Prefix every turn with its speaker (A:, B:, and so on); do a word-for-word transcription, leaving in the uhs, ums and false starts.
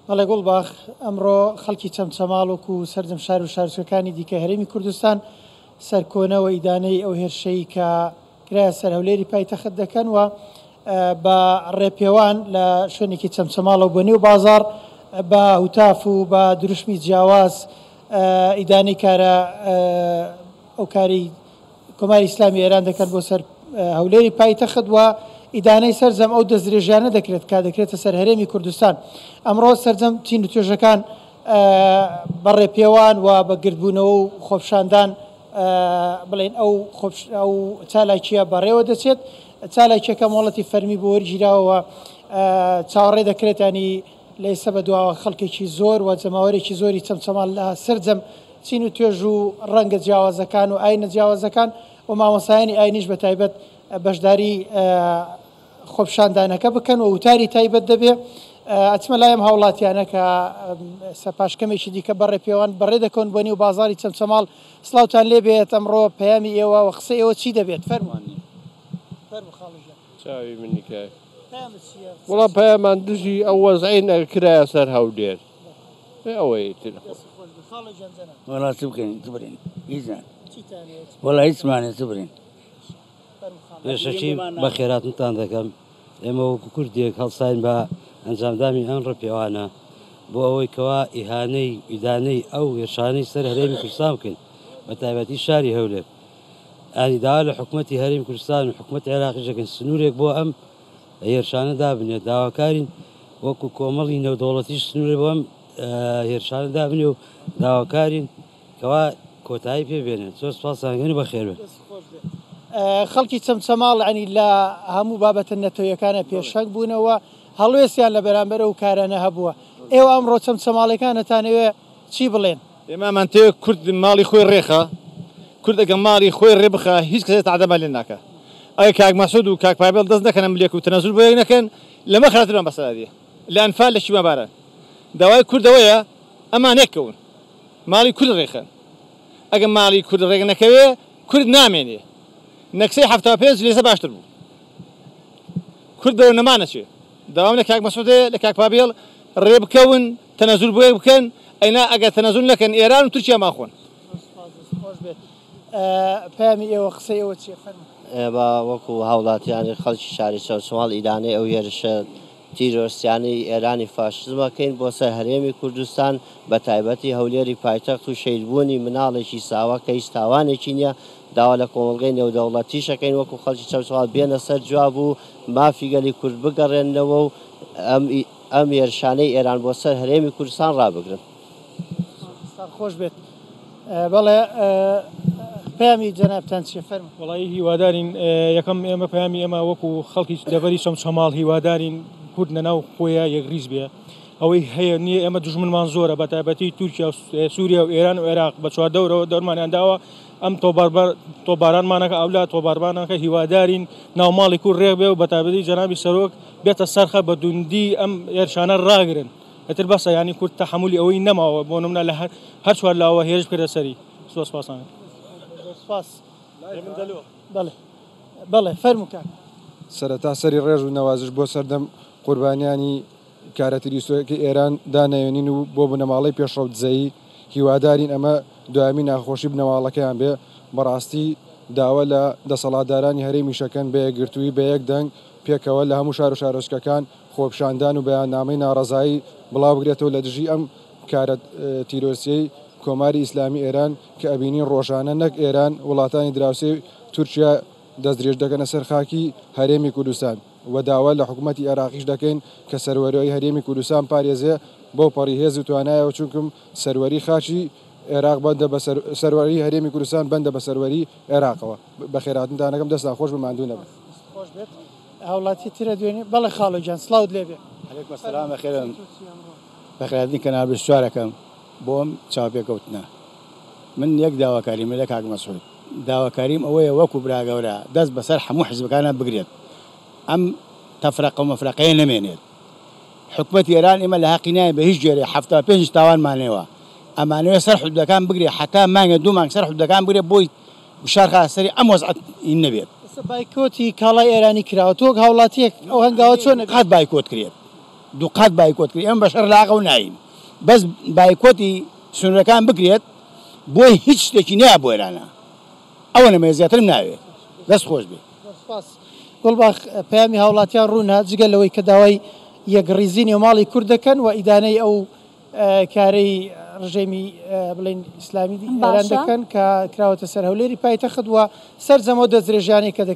A: بەڵێ گوڵباخ، ئەمڕۆ خەڵکی چەمچەماڵ وەکو سەرجەم شار و شارۆچکەکانی دیکە هەرێمی کوردستان سەرکۆنەوە ئیدانەی ئەو هێرشەی کە کرایە سەر هەولێری پایتەخت دەکەن و بە ڕێپێوان لە شوێنێکی چەمچەماڵەوە بۆ نێو بازار بە هوتاف و بە دروشمی جیاواز ئیدانەی کارە ئەو کاری کۆماری ئیسلامی ئێران دەکەن بۆ سەر هەولێری پایتەخت و ئیدانەی سەرجەم ئەو دەستدرێژیانە دەکرێت کە دەکرێتە سەر هەرێمی کوردستان. ئەمڕۆ سەرجەم چین و توێژەکان بە ڕێپێوان و بە گردبوونەوە و خۆپشاندان بڵێن ئەو ئەو چالاکیە بەڕێوە دەچێت. چالاکیەکە مۆڵەتی فەرمی بۆ وەرگیراوە، چاوەڕێ دەکرێت ینی لە ئێستا بە دواوە خەڵکێکی زۆر و جەماوەرێکی زۆری چەمچەماڵ لە سەرجەم چین و توێژ و ڕەنگە جیاوازەکان و ئاینە جیاوازەکان و مامۆسایانی ئاینیش بە تایبەت بەشداری خۆپشاندانەکە بکەن و وتاری تایبەت دەبێ. ئەچمە لایم هاوڵاتیانە کە پاشکەمێکی دیکە بەڕێ پێوان بەڕێ دەکەون بۆ نێو بازاری چەمچەماڵ. سڵاوتان لێ بێت، ئەمڕۆ پەیامی ئێوە و قسەی ئێوە چی دەبێت؟ فەرموو. فەرموو خاڵو گیان.
B: چاوی منی کاک.
A: پەیامت چییە؟
B: وەڵا پەیامان دژی ئەو وەزعەی کرایە سەر هەولێر. ئەوەی تر.
A: خاڵو گیان جەناب.
C: وەڵا چ بکەین؟ چ برین؟ هیچ
A: چیتان هەیە؟
C: وەڵا هیچمانە، چ برین؟
D: پێشەکی بەخێراتنتان دەکەم. ئێمە وەکو کوردێک هەڵساین بە ئەنجامدانی ئەم ڕێپێوانە بۆ ئەوەی کەوا ئیهانەی ئیدانەی ئەو هێرشانەی سەر هەرێمی کوردستان بکەین، بە تایبەتی شاری هەولێر. ئانی داوا لە حکوومەتی هەرێمی کوردستان و حکوومەتی عێراقیش دەکەین سنوورێک بۆ ئەم هێرشانە دابنێت. داواکارین وەکو کۆمەڵی نێودەوڵەتیش سنوورێک بۆ ئەم هێرشانە دابنێ و داواکارین کەوا کۆتایی پێ بێنێت. زۆر سوپاسان دەکەین و بەخێر بێن.
A: خەڵکی چەمچەماڵ ینی لە هەموو بابەتە نەتەوەیەکانە پێشەنگ بوونەوە، هەڵوێستیان لە بەرامبەر ئەو کارانە هەبووە. ئێوە ئەمڕۆ چەمچەماڵەکانتانەوێ چی بڵێن؟
E: ئێمەمان تێ کورد ماڵی خۆی ڕێخە، کورد ئەگەر ماڵی خۆی ڕێ بخە هیچ کەسێ تەعدەمان لێ ناکە. ئەگەر کاک مەسعود و کاک پابێڵ دەست نەکەنە ملێک و تەنەزول بۆ یەک نەکەن، لەمە خراپترمان بەسەرا دێ. لە ئەنفال لە شیماباران داوای کوردەوەیە ئەمان یەککەون، ماڵی کورد ڕێخەن. ئەگەر ماڵی کورد ڕێک نەکەوێ کورد نامێنێ. نەکسەی حەفتا و پێنج لێسە باشتر بوو. کورد بەرەو نەمانەچێ. داوام لە کاک مەسعودێ لە کاک پابێڵ ڕێ بکەون، تەنەزول بۆ یەک بکەن، ئەینا ئەگەر تەنەزول نەکەن ئێران و تورکیا ماخۆن.
A: خۆش بێت. پەیامی ئێوە قسەی ئێوە چییە؟ فەرموو.
F: ئێمە وەکو هاوڵاتیانی خەڵکی شاری چەمچەماڵ ئیدانەی ئەو هێرشە تیرۆرستیانەی ئێرانی فاشزمەکەین بۆ سەر هەرێمی کوردستان، بە تایبەتی هەولێری پایتەخت و شەهیدبوونی مناڵێکی ساوا کە هیچ تاوانێکی نییە. داوا لە کۆمەڵگەی نێودەوڵەتیشەکەین وەکو خەڵکی چەمچەماڵ بێنە سەر جواب و مافی گەلی کورد بگەڕێننەوە و ئەم هێرشانەی ئێران بۆ سەر هەرێمی کوردستان ڕابگرن.
A: خۆش بێت. بەڵێ پەیامی جەنابتان چییە؟ فەرموو.
G: وەڵی هیوادارین یەکەم ئێمە پەیامی ئێمە وەکو خەڵکی دەڤەری چەمچەماڵ هیوادارین کورد لەناو خۆیە یەکریز بێ. ئەوەی هەیە نییە ئێمە دوژمنمان زۆرە، بە تایبەتی تورکیا و سووریا و ئێران و عێراق بە چواردەورەوە دەورمانیان داوە. ئەم تۆبارانمانەکە ئەولا تۆباربانەکە هیوادارین ناوماڵی کورد ڕێک بێ و بە تایبەتی جەنابی سەرۆک بێتە سەرخە بە دوندی ئەم هێرشانە ڕاگرن. ئیتر بەسە ینی کورد تەحەمولی ئەوەی نەماوە بۆ نمونە لە هەر چوار لاوە هێرش بکرێتە سەری. زۆر سوپاسان.
A: سپاس. بەڵێ بەڵێ فەرموو کاک.
H: سەرەتا سەری ڕێژ و نەوازش بۆ سەردەم قوربانیانی کارە تیرۆریستیەکەی ئێران دانەوێنین و بۆ بنەماڵەی پێشڕەو دزەیی. هیوادارین ئەمە دوایەمین ناخۆشی بنەماڵەکەیان بێ. بەڕاستی داوا لە دەسەڵاتدارانی هەرێمی شەکەن بە یەکگرتوویی بە یەک دەنگ پێکەوە لە هەموو شار و شارۆچکەکان خۆپیشاندان و بەیاننامەی ناڕەزایی بڵاو بگرێتەوە لە دژی ئەم کارە تیرۆریستیەی کۆماری ئیسلامی ئێران کە ئەبینین ڕۆژانە نەک ئێران وڵاتانی دراوسێ تورکیا دەستدرێژ دەکەنە سەر خاکی هەرێمی کوردستان و داوا لە حکوومەتی عێراقیش دەکەین کە سەروەری هەرێمی کوردستان پارێزێ بۆ پەڕی هێز و توانایەوە، چونکم سەروەری خاکی عێراق بەندە بە سەروەری هەرێمی کوردستان بەندە بە سەروەری عێراقەوە. بەخێراتنتانەکەم، دەستان خۆش بە ماندوو نەبن.
A: خۆش بێت. هاوڵاتی ترە دوێنێ. بەڵێ خاڵۆ گیان سڵاوت لێ بێ.
C: عەلەیکم سەلام. بەخێرن. بەخێراتنی کەناڵ بیست و چوارەکەم بۆم چاوپێکەوتنە. من یەک داواکاریم لە کاک مەسعود، داواکاریم ئەوەیە وەکو براگەورە دەست بەسەر هەموو حیزبەکانە بگرێت، ئەم تەفرەقە و مەفرەقەیە نەمێنێت. حکومەتی ئێران ئێمە لە حەقی نایە بە هیچ جۆرێ حەفتا و پێنج تاوانمانەوە، ئەمانەوێ سەر حدودەکان بگرێ، حتا مانگە دوو مانگ سەر حدودەکان بگرێ بۆی گوشار خا سەری ئەم وەزعەت نەبێت.
A: ئێستا بایکۆتی کاڵای ئێرانی کراوە، تۆ وەک هاوڵاتیەک ئەو هەنگاوە چۆن
C: قەت بایکۆت کرێت؟ دووقات بایکۆت کرد، ئێمە بەشەر لاقە و ناین، بەس بایکۆتی سنوورەکان بکرێت بۆی هیچ شتێکی نایە بۆ ئێرانە، ئەوە نەمەوێ زیاترم ناوێ. دەست خۆش بێ.
A: سپاس. گوڵباخ، پەیامی هاوڵاتیان ڕوونە، جگە لەوەی کە داوای یەکڕیزی نێوماڵی کورد دەکەن و ئیدانەی ئەو کارەی ڕژێمی بڵێن ئیسلامی ئێران دەکەن کە کراوەتە سەر هەولێری پایتەخت و سەرجەمەوە دەستدرێژیانەی کە دەکرێت.